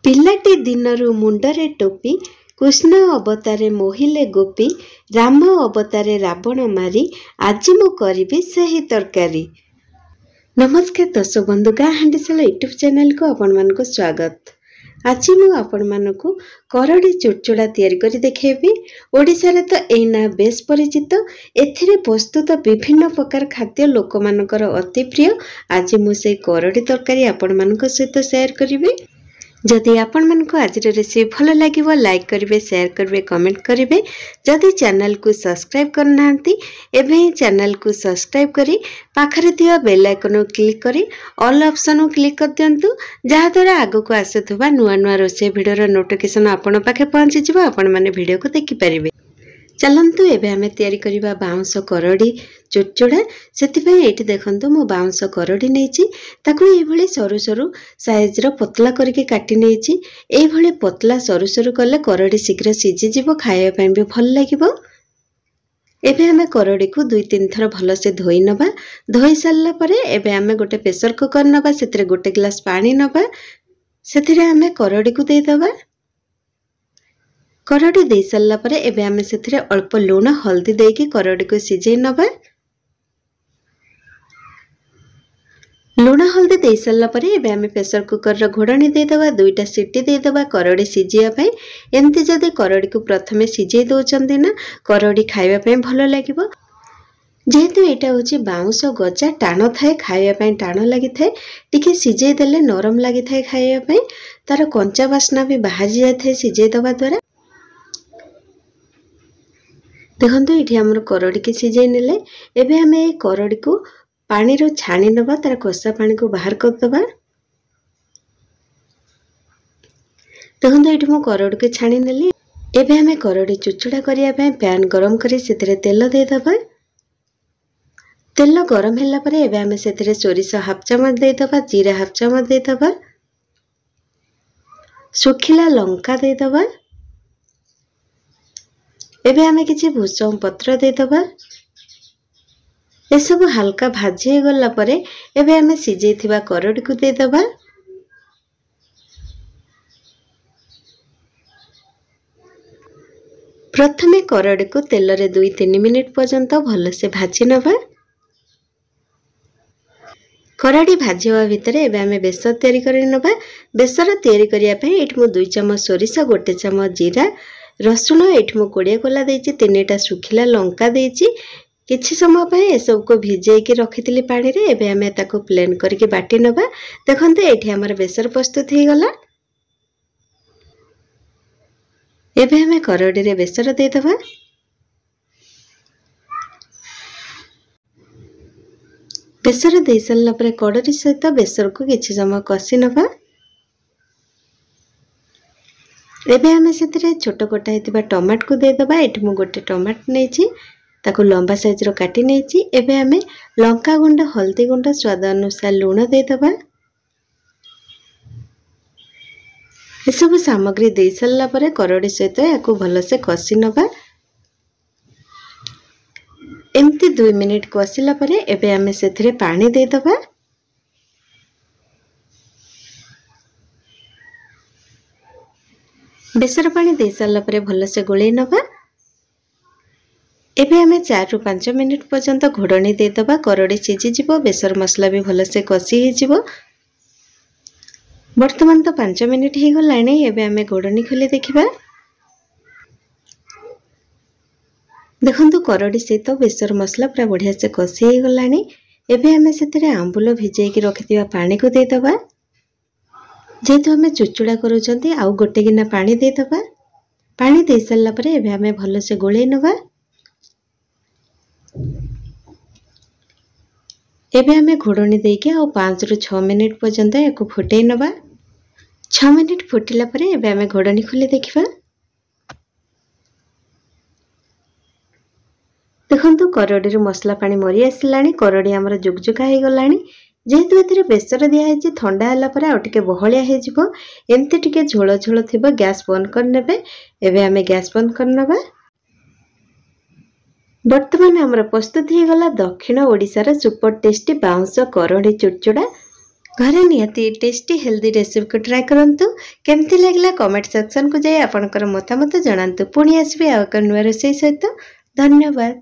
ପିଲାଟି ଦିନରୁ ମୁଣ୍ଡରେ ଟୋପି, କୃଷ୍ଣ ଅବତାରେ ମୋହିଲେ ଗୋପୀ, ରାମ ଅବତାରେ ରାବଣ ମାରି, ଆଜି ମୁଁ କରିବି ସେହି ତରକାରୀ। ନମସ୍କାର ଦର୍ଶକ ବନ୍ଧୁ, ଗାଁ ହାଣ୍ଡିଶାଳ ୟୁଟ୍ୟୁବ୍ ଚ୍ୟାନେଲକୁ ଆପଣମାନଙ୍କୁ ସ୍ୱାଗତ। ଆଜି ମୁଁ ଆପଣମାନଙ୍କୁ କରଡ଼ି ଚୁଡ଼ଚୁଡ଼ା ତିଆରି କରି ଦେଖାଇବି। ଓଡ଼ିଶାରେ ତ ଏଇ ନାଁ ବେଶ ପରିଚିତ। ଏଥିରେ ପ୍ରସ୍ତୁତ ବିଭିନ୍ନ ପ୍ରକାର ଖାଦ୍ୟ ଲୋକମାନଙ୍କର ଅତି ପ୍ରିୟ। ଆଜି ମୁଁ ସେଇ କରଡ଼ି ତରକାରୀ ଆପଣମାନଙ୍କ ସହିତ ସେୟାର କରିବି। ଯଦି ଆପଣମାନଙ୍କୁ ଆଜିର ରେସିପି ଭଲ ଲାଗିବ, ଲାଇକ୍ କରିବେ, ସେୟାର କରିବେ, କମେଣ୍ଟ କରିବେ। ଯଦି ଚ୍ୟାନେଲକୁ ସବସ୍କ୍ରାଇବ୍ କରିନାହାନ୍ତି, ଏବେ ହିଁ ଚ୍ୟାନେଲକୁ ସବସ୍କ୍ରାଇବ୍ କରି ପାଖରେ ଥିବା ବେଲ୍ ଆଇକନ୍କୁ କ୍ଲିକ୍ କରି ଅଲ୍ ଅପସନ୍କୁ କ୍ଲିକ୍ କରିଦିଅନ୍ତୁ, ଯାହାଦ୍ୱାରା ଆଗକୁ ଆସୁଥିବା ନୂଆ ନୂଆ ରୋଷେଇ ଭିଡ଼ିଓର ନୋଟିଫିକେସନ୍ ଆପଣଙ୍କ ପାଖେ ପହଞ୍ଚିଯିବ, ଆପଣମାନେ ଭିଡ଼ିଓକୁ ଦେଖିପାରିବେ। ଚାଲନ୍ତୁ ଏବେ ଆମେ ତିଆରି କରିବା ବାଉଁଶ କରଡ଼ି ଚୁଡ଼ଚୁଡ଼ା। ସେଥିପାଇଁ ଏଇଠି ଦେଖନ୍ତୁ, ମୁଁ ବାଉଁଶ କରଡ଼ି ନେଇଛି। ତାକୁ ଏଇଭଳି ସରୁ ସରୁ ସାଇଜ୍ର ପତଳା କରିକି କାଟି ନେଇଛି। ଏଇଭଳି ପତଳା ସରୁ ସରୁ କଲେ କରଡ଼ି ଶୀଘ୍ର ସିଝିଯିବ, ଖାଇବା ପାଇଁ ବି ଭଲ ଲାଗିବ। ଏବେ ଆମେ କରଡ଼ିକୁ 2-3 ଥର ଭଲସେ ଧୋଇ ନେବା। ଧୋଇ ସାରିଲା ପରେ ଏବେ ଆମେ ଗୋଟେ ପ୍ରେସର କୁକର୍ ନେବା, ସେଥିରେ 1 ଗ୍ଲାସ୍ ପାଣି ନେବା, ସେଥିରେ ଆମେ କରଡ଼ିକୁ ଦେଇଦେବା। କରଡ଼ି ଦେଇ ସାରିଲା ପରେ ଏବେ ଆମେ ସେଥିରେ ଅଳ୍ପ ଲୁଣ ହଳଦୀ ଦେଇକି କରଡ଼ିକୁ ସିଝେଇ ନେବା। ଲୁଣ ହଳଦୀ ଦେଇ ସାରିଲା ପରେ ଏବେ ଆମେ ପ୍ରେସର କୁକରର ଘୋଡ଼ଣୀ ଦେଇଦେବା, 2ଟା ସିଟି ଦେଇଦେବା କରଡ଼ି ସିଝିବା ପାଇଁ। ଏମିତି ଯଦି କରଡ଼ିକୁ ପ୍ରଥମେ ସିଝେଇ ଦେଉଛନ୍ତି ନା, କରଡ଼ି ଖାଇବା ପାଇଁ ଭଲ ଲାଗିବ। ଯେହେତୁ ଏଇଟା ହେଉଛି ବାଉଁଶ ଗଜା, ଟାଣ ଥାଏ, ଖାଇବା ପାଇଁ ଟାଣ ଲାଗିଥାଏ। ଟିକେ ସିଝେଇ ଦେଲେ ନରମ ଲାଗିଥାଏ ଖାଇବା ପାଇଁ, ତାର କଞ୍ଚା ବାସ୍ନା ବି ବାହାରି ଯାଇଥାଏ ସିଝେଇ ଦେବା ଦ୍ୱାରା। ଦେଖନ୍ତୁ, ଏଇଠି ଆମର କରଡ଼ିକି ସିଝେଇ ନେଲେ। ଏବେ ଆମେ ଏଇ କରଡ଼ିକୁ ପାଣିରୁ ଛାଣି ନେବା, ତାର କଷା ପାଣିକୁ ବାହାର କରିଦେବା। ଦେଖନ୍ତୁ, ଏଇଠି ମୁଁ କରଡ଼ିକୁ ଛାଣି ନେଲି। ଏବେ ଆମେ କରଡ଼ି ଚୁଚୁଡ଼ା କରିବା ପାଇଁ ପ୍ୟାନ୍ ଗରମ କରି ସେଥିରେ ତେଲ ଦେଇଦେବା। ତେଲ ଗରମ ହେଲା ପରେ ଏବେ ଆମେ ସେଥିରେ ସୋରିଷ ହାଫ୍ ଚାମଚ ଦେଇଦେବା, ଜିରା ହାଫ୍ ଚାମଚ ଦେଇଦେବା, ଶୁଖିଲା ଲଙ୍କା ଦେଇଦେବା। ଏବେ ଆମେ କିଛି ଭୃଷଙ୍ଗ ପତ୍ର ଦେଇଦେବା। ଏସବୁ ହାଲକା ଭାଜି ହେଇଗଲା ପରେ ଏବେ ଆମେ ସିଝେଇଥିବା କରଡ଼ିକୁ ଦେଇଦେବା। ପ୍ରଥମେ କରଡ଼ିକୁ ତେଲରେ 2-3 ମିନିଟ୍ ପର୍ଯ୍ୟନ୍ତ ଭଲସେ ଭାଜି ନେବା। କରଡ଼ି ଭାଜି ହେବା ଭିତରେ ଏବେ ଆମେ ବେସର ତିଆରି କରି ନେବା। ବେସର ତିଆରି କରିବା ପାଇଁ ଏଇଠି ମୁଁ 2 ଚାମଚ ସୋରିଷ, 1 ଚାମଚ ଜିରା, ରସୁଣ ଏଇଠି ମୁଁ 20 କୋଲା ଦେଇଛି, 3ଟା ଶୁଖିଲା ଲଙ୍କା ଦେଇଛି। କିଛି ସମୟ ପାଇଁ ଏସବୁକୁ ଭିଜେଇକି ରଖିଥିଲି ପାଣିରେ। ଏବେ ଆମେ ତାକୁ ପ୍ଲେନ୍ କରିକି ବାଟି ନେବା। ଦେଖନ୍ତୁ, ଏଇଠି ଆମର ବେସର ପ୍ରସ୍ତୁତ ହେଇଗଲା। ଏବେ ଆମେ କରଡ଼ିରେ ବେସର ଦେଇଦେବା। ବେସର ଦେଇସାରିଲା ପରେ କଡ଼ରୀ ସହିତ ବେସରକୁ କିଛି ସମୟ କଷି ନେବା। ଏବେ ଆମେ ସେଥିରେ ଛୋଟ କଟା ହେଇଥିବା ଟମାଟୋକୁ ଦେଇଦେବା। ଏଠି ମୁଁ ଗୋଟେ ଟମାଟୋ ନେଇଛି, ତାକୁ ଲମ୍ବା ସାଇଜ୍ର କାଟି ନେଇଛି। ଏବେ ଆମେ ଲଙ୍କା ଗୁଣ୍ଡ, ହଳଦୀ ଗୁଣ୍ଡ, ସ୍ୱାଦ ଅନୁସାରେ ଲୁଣ ଦେଇଦେବା। ଏସବୁ ସାମଗ୍ରୀ ଦେଇସାରିଲା ପରେ କରଡ଼ି ସହିତ ଏହାକୁ ଭଲସେ କଷି ନେବା। ଏମିତି 2 ମିନିଟ୍ କଷିଲା ପରେ ଏବେ ଆମେ ସେଥିରେ ପାଣି ଦେଇଦେବା। ବେସର ପାଣି ଦେଇସାରିଲା ପରେ ଭଲସେ ଗୋଳେଇ ନେବା। ଏବେ ଆମେ 4ରୁ 5 ମିନିଟ୍ ପର୍ଯ୍ୟନ୍ତ ଘୋଡ଼ଣୀ ଦେଇଦେବା। କରଡ଼ି ସିଝିଯିବ, ବେସର ମସଲା ବି ଭଲସେ କଷି ହେଇଯିବ। ବର୍ତ୍ତମାନ ତ 5 ମିନିଟ୍ ହେଇଗଲାଣି। ଏବେ ଆମେ ଘୋଡ଼ଣୀ ଖୋଲି ଦେଖିବା। ଦେଖନ୍ତୁ, କରଡ଼ି ସହିତ ବେସର ମସଲା ପୁରା ବଢ଼ିଆ ସେ କଷି ହେଇଗଲାଣି। ଏବେ ଆମେ ସେଥିରେ ଆମ୍ବୁଲ ଭିଜେଇକି ରଖିଥିବା ପାଣିକୁ ଦେଇଦେବା। ଯେହେତୁ ଆମେ ଚୁଚୁଡ଼ା କରୁଛନ୍ତି, ଆଉ ଗୋଟେ ଗିନା ପାଣି ଦେଇଦେବା। ପାଣି ଦେଇସାରିଲା ପରେ ଏବେ ଆମେ ଭଲସେ ଗୋଳେଇ ନେବା। ଏବେ ଆମେ ଘୋଡ଼ଣୀ ଦେଇକି ଆଉ 5ରୁ 6 ମିନିଟ୍ ପର୍ଯ୍ୟନ୍ତ ଏହାକୁ ଫୁଟେଇ ନେବା। 6 ମିନିଟ୍ ଫୁଟିଲା ପରେ ଏବେ ଆମେ ଘୋଡ଼ଣୀ ଖୋଲି ଦେଖିବା। ଦେଖନ୍ତୁ, କରଡ଼ିରୁ ମସଲା ପାଣି ମରି ଆସିଲାଣି, କରଡ଼ି ଆମର ଜୁକଜୁକା ହେଇଗଲାଣି। ଯେହେତୁ ଏଥିରେ ବେସର ଦିଆହେଇଛି, ଥଣ୍ଡା ହେଲା ପରେ ଆଉ ଟିକେ ବହଳିଆ ହେଇଯିବ। ଏମିତି ଟିକେ ଝୋଳ ଝୋଳ ଥିବ, ଗ୍ୟାସ୍ ବନ୍ଦ କରିନେବେ। ଏବେ ଆମେ ଗ୍ୟାସ୍ ବନ୍ଦ କରିନେବା। ବର୍ତ୍ତମାନ ଆମର ପ୍ରସ୍ତୁତ ହେଇଗଲା ଦକ୍ଷିଣ ଓଡ଼ିଶାର ସୁପର ଟେଷ୍ଟି ବାଉଁଶ କରଡ଼ି ଚୁଡ଼ଚୁଡ଼ା। ଘରେ ନିହାତି ଟେଷ୍ଟି ହେଲ୍ଦି ରେସିପିକୁ ଟ୍ରାଏ କରନ୍ତୁ। କେମିତି ଲାଗିଲା କମେଣ୍ଟ ସେକ୍ସନକୁ ଯାଇ ଆପଣଙ୍କର ମତାମତ ଜଣାନ୍ତୁ। ପୁଣି ଆସିବି ଆଉ ଏକ ନୂଆ ରୋଷେଇ ସହିତ। ଧନ୍ୟବାଦ।